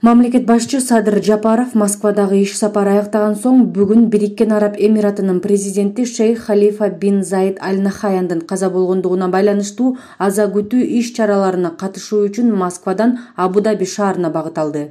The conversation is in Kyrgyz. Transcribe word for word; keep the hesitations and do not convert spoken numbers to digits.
Мамлекет башчы Садыр Жапаров Москвадагы иш сапары аяктаган соң бүгүн Бириккен Араб Эмиратынын президенти Шейх Халифа бин Заид Аль Нахаяндын каза болгондугуна байланыштуу аза күтүү иш чараларына катышуу үчүн Москвадан Абу-Даби шаарына багыт алды.